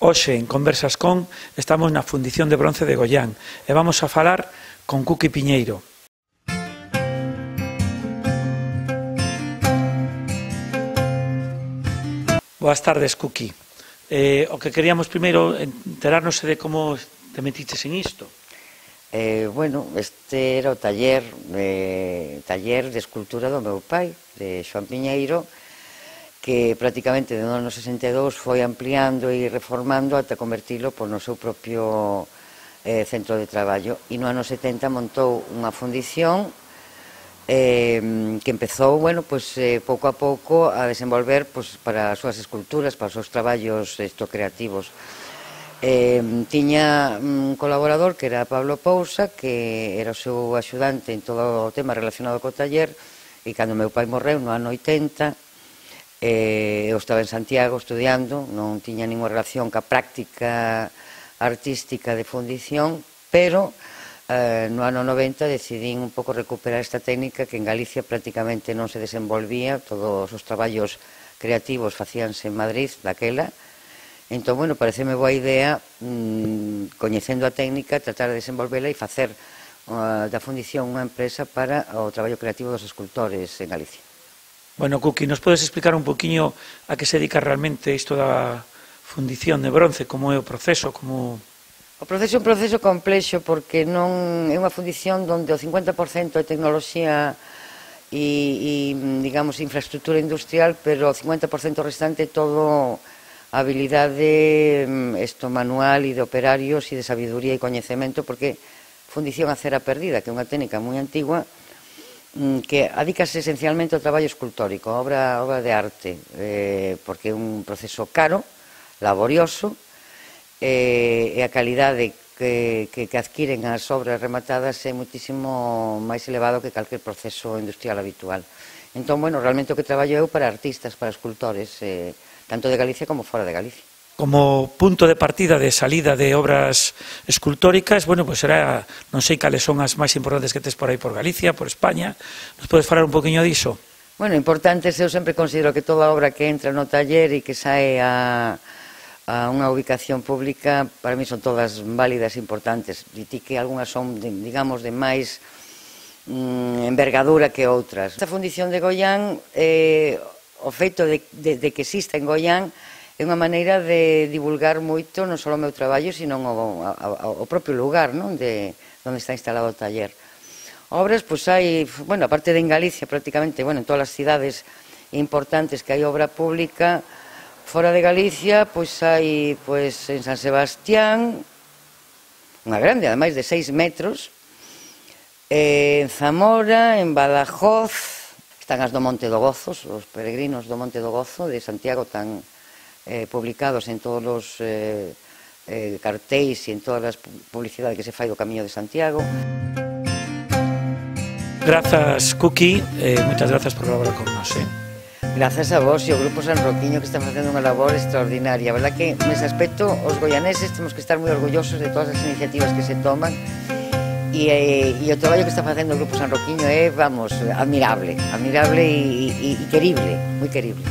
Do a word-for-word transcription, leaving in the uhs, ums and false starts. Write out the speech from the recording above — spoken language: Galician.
Hoxe, en Conversas con, estamos na Fundición de Bronce de Goián e vamos a falar con Cuqui Piñeiro. Boas tardes, Cuqui. Eh, o que queríamos primeiro enterarnos de como te metiches en isto. Eh, bueno, este era o taller, eh, taller de escultura do meu pai, de Xoán Piñeiro, que prácticamente no ano sesenta e dous foi ampliando e reformando ata convertilo por no seu propio eh, centro de traballo. E no ano setenta montou unha fundición eh, que empezou, bueno, pues, eh, pouco a pouco a desenvolver pues, para as súas esculturas, para os seus traballos esto, creativos. Eh, tiña un colaborador que era Pablo Pousa, que era o seu axudante en todo o tema relacionado co taller, e cando meu pai morreu no ano oitenta, eh, eu estaba en Santiago estudiando, non tiña ninguna relación ca práctica artística de fundición, pero eh, no ano noventa decidín un pouco recuperar esta técnica que en Galicia prácticamente non se desenvolvía, todos os traballos creativos facíanse en Madrid daquela. Entón, bueno, pareceme boa idea, mmm, coñecendo a técnica, tratar de desenvolvela e facer uh, da fundición unha empresa para o traballo creativo dos escultores en Galicia. Bueno, Cuqui, nos podes explicar un poquinho a que se dedica realmente isto da fundición de bronce, como é o proceso, como... O proceso é un proceso complexo porque non é unha fundición onde o cincuenta por cento é tecnoloxía e, e digamos, infraestructura industrial, pero o cincuenta por cento restante é todo habilidade esto, manual e de operarios e de sabiduría e coñecemento, porque fundición a cera perdida, que é unha técnica moi antigua, que adícase esencialmente ao traballo escultórico, a obra, obra de arte, eh, porque é un proceso caro, laborioso, eh, e a calidade que, que, que adquiren as obras rematadas é muitísimo máis elevado que calquer proceso industrial habitual. Entón, bueno, realmente o que traballo eu para artistas, para escultores, eh, tanto de Galicia como fora de Galicia. Como punto de partida de salida de obras escultóricas, bueno, pues será, non sei cales son as máis importantes que tes por aí por Galicia, por España. Nos podes falar un poquinho diso? Bueno, importantes, eu sempre considero que toda obra que entra no taller e que sae a, a unha ubicación pública, para mí son todas válidas e importantes. E ti que algunhas son, de, digamos, de máis mm, envergadura que outras. Esta fundición de Goián, eh, o feito de, de, de que exista en Goián, é unha maneira de divulgar moito non só o meu traballo, sino o, o, o propio lugar, non? De onde está instalado o taller. Obras, pois hai, bueno, aparte de en Galicia, prácticamente, bueno, en todas as cidades importantes que hai obra pública, fora de Galicia, pois hai, pois, en San Sebastián, unha grande, ademais de seis metros, en Zamora, en Badajoz, están as do Monte do Gozo, os peregrinos do Monte do Gozo, de Santiago, tan Eh, publicados en todos os eh, eh, cartéis e en todas as publicidades que se fai do Camiño de Santiago. Grazas, Cuqui, eh, moitas grazas por colaborar con nos. Eh. Grazas a vos e ao Grupo San Roquiño, que están facendo unha labor extraordinaria. A verdad que, nese aspecto, os goianeses temos que estar moi orgullosos de todas as iniciativas que se toman e, eh, e o traballo que está facendo o Grupo San Roquiño é, vamos, admirable, admirable e, e, e querible, moi querible.